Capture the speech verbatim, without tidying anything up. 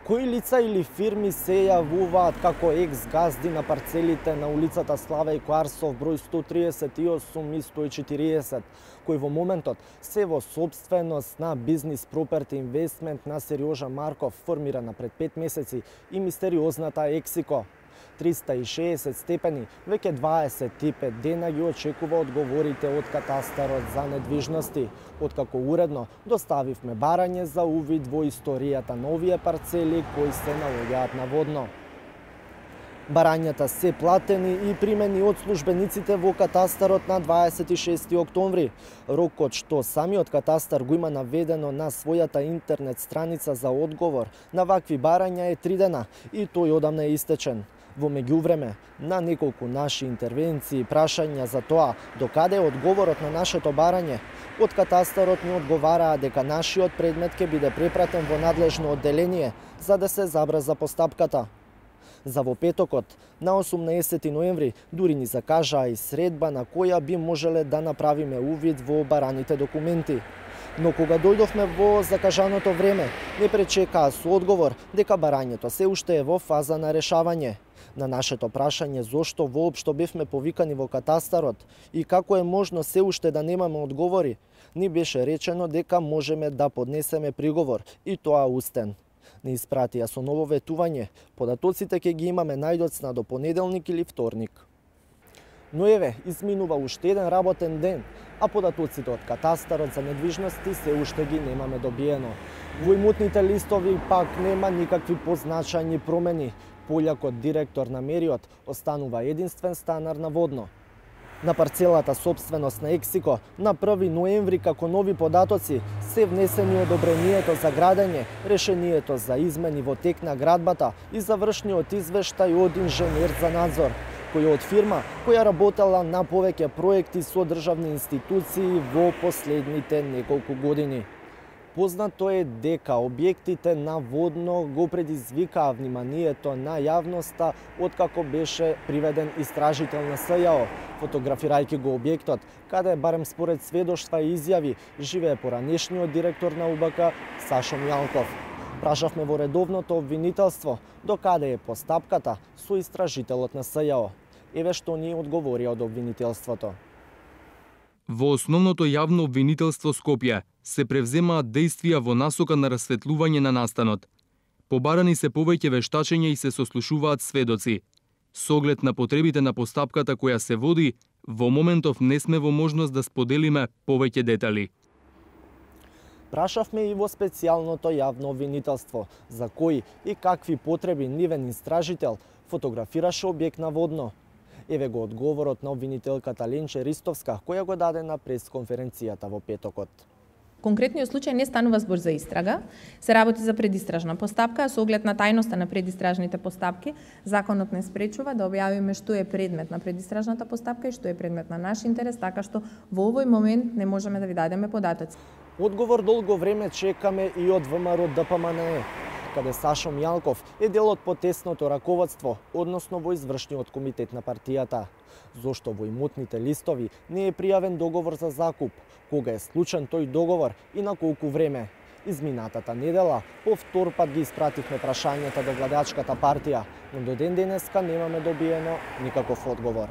Кои лица или фирми се јавуваат како екс-газди на парцелите на улицата Славеј Кварсов број сто триесет и осум и сто и четириесет, кои во моментот се во сопственост на Бизнис Проперти Инвестмент на Сериожа Марков, формирана пред пет месеци, и мистериозната Ексико. триста и шеесет степени веќе дваесет и пет дена ги очекува одговорите од катастарот за недвижности, откако уредно доставивме барање за увид во историјата на овие парцели кои се наоѓаат наводно. Барањата се платени и примени од службениците во катастарот на дваесет и шести октомври. Рокот што самиот катастар го има наведено на својата интернет страница за одговор на вакви барања е три дена и тој одамна е истечен. Во меѓувреме, на неколку наши интервенции и прашања за тоа докаде е одговорот на нашето барање, од катастарот ни одговараа дека нашиот предмет ќе биде препратен во надлежно одделение за да се забрза постапката. За во петокот, на осумнаесети ноември, дури ни закажаа и средба на која би можеле да направиме увид во бараните документи. Но кога дојдовме во закажаното време, не пречекаа со одговор дека барањето се уште е во фаза на решавање. На нашето прашање зошто воопшто бевме повикани во катастарот и како е можно се уште да немаме одговори, ни беше речено дека можеме да поднесеме приговор и тоа устен. Не испратија со ново ветување, податоците ќе ги имаме најдоцна до понеделник или вторник. Но еве, изминува уште еден работен ден, а податоците од катастарот за недвижности се уште ги немаме добиено. Во имотните листови пак нема никакви позначајни промени. Полјакот директор на Мериот останува единствен станар наводно. На парцелата собственост на Ексико на први ноември како нови податоци се внесени одобрението за градење, решението за измени во тек на градбата и завршниот извештај од инженер за надзор, кој е од фирма која работела на повеќе проекти со државни институции во последните неколку години. Познато е дека објектите наводно го предизвикаа вниманието на јавноста откако беше приведен истражител на С Ј О, фотографирајќи го објектот, каде барем според сведоштва и изјави живее поранешниот директор на У Б К Сашо Мјалков. Прашавме во редовното обвинителство докаде е постапката со истражителот на С Ј О. Еве што ни одговорија од обвинителството. Во основното јавно обвинителство Скопје се превземаат дејствија во насока на расветлување на настанот. Побарани се повеќе вештачења и се сослушуваат сведоци. Со оглед на потребите на постапката која се води, во моментов не сме во можност да споделиме повеќе детали. Прашавме и во специјалното јавно обвинителство за кои и какви потреби нивен истражител фотографираше објект наводно. Еве го одговорот на обвинителката Ленче Ристовска, која го даде на пресконференцијата во петокот. Конкретниот случај не станува збор за истрага, се работи за предистражна постапка, а со оглед на тајноста на предистражните постапки, законот не спречува да објавиме што е предмет на предистражната постапка и што е предмет на наш интерес, така што во овој момент не можеме да ви дадеме податоци. Одговор долго време чекаме и од В М Р Д П М Н Е, каде Сашо Мјалков е дел од потесното раководство, односно во извршниот комитет на партијата. Зошто во имотните листови не е пријавен договор за закуп, кога е склучен тој договор и на колку време? Изминатата недела по втор пат ги испративме прашањата до владеачката партија, но до ден денеска немаме добиено никаков одговор.